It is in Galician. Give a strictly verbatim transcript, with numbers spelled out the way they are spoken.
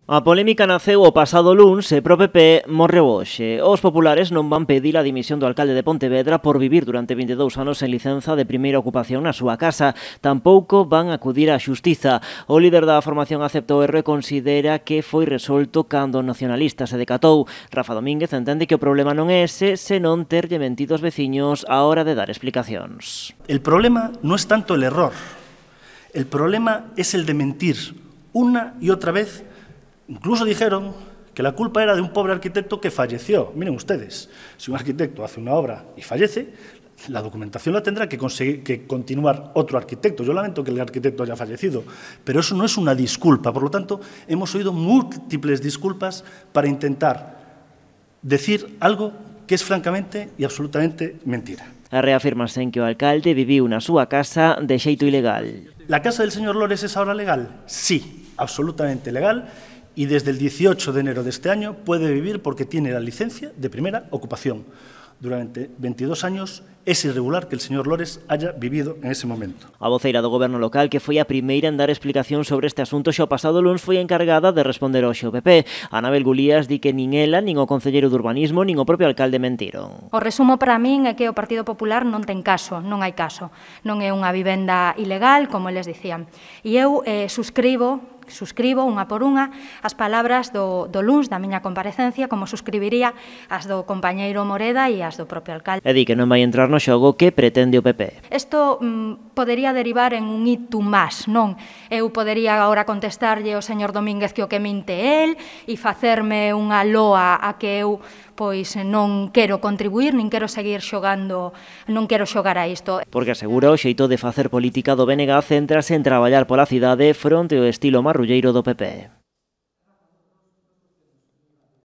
A polémica naceu o pasado luns e pro P P morreu hoxe. Os populares non van pedir a dimisión do alcalde de Pontevedra por vivir durante vinte e dous anos en licenza de primeira ocupación na súa casa. Tampouco van acudir á xustiza. O líder da formación aceptou erro e considera que foi resolto cando o nacionalista se decatou. Rafa Domínguez entende que o problema non é ese, senón terlle mentido aos veciños á hora de dar explicacións. El problema no es tanto el error, el problema es el de mentir una y otra vez. Incluso dijeron que la culpa era de un pobre arquitecto que falleció. Miren ustedes, si un arquitecto hace una obra y fallece, la documentación la tendrá que, conseguir, que continuar otro arquitecto. Yo lamento que el arquitecto haya fallecido, pero eso no es una disculpa. Por lo tanto, hemos oído múltiples disculpas para intentar decir algo que es francamente y absolutamente mentira. Reafirmase en que o alcalde viviu na súa casa de xeito ilegal. ¿La casa del señor Lores es ahora legal? Sí, absolutamente legal. Y desde el dieciocho de enero de este año puede vivir porque tiene la licencia de primera ocupación. Durante veintidós años es irregular que el señor Lores haya vivido en ese momento. A voceira do goberno local, que foi a primeira en dar explicación sobre este asunto xa o pasado luns, foi encargada de responder hoxe o P P. Anabel Gulías di que nin ela, nin o concelleiro de urbanismo, nin o propio alcalde mentiron. O resumo para min é que o Partido Popular non ten caso, non hai caso. Non é unha vivenda ilegal, como eles dicían. E eu eh, suscribo suscribo unha por unha as palabras do, do luns da miña comparecencia, como suscribiría as do compañeiro Moreda e as do propio alcalde. E di que non vai entrar no xogo que pretende o P P. Isto mm, podería derivar en un itu más, non? Eu podería agora contestarlle ao señor Domínguez que o que minte el e facerme unha loa a que eu pois non quero contribuir, nin quero seguir xogando, non quero xogar a isto. Porque asegura o xeito de facer política do B N G céntrase en traballar pola cidade fronte ao estilo marrulleiro do P P.